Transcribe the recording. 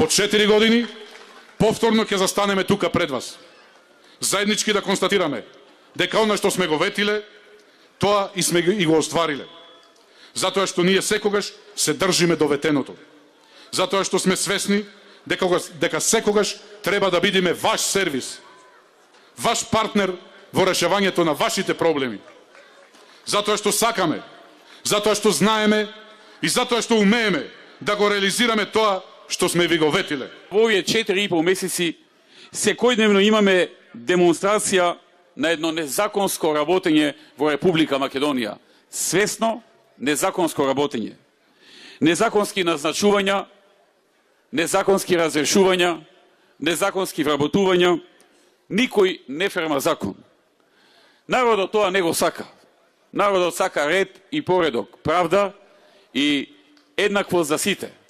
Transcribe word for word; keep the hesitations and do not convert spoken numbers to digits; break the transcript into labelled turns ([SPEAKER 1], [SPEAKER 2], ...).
[SPEAKER 1] По четири години повторно ќе застанеме тука пред вас. Заеднички да констатираме дека она што сме го ветиле, тоа и сме и го оствариле. Затоа што ние секогаш се држиме до ветеното. Затоа што сме свесни дека, дека секогаш треба да бидеме ваш сервис, ваш партнер во решавањето на вашите проблеми. Затоа што сакаме, затоа што знаеме и затоа што умееме да го реализираме тоа што сме ви го ветиле.
[SPEAKER 2] Во овие четири и пол месеци секојдневно имаме демонстрација на едно незаконско работење во Република Македонија. Свесно незаконско работење. Незаконски назначувања, незаконски разрешувања, незаконски вработувања, никој не ферма закон. Народот тоа не го сака. Народот сака ред и поредок, правда и еднакво за сите.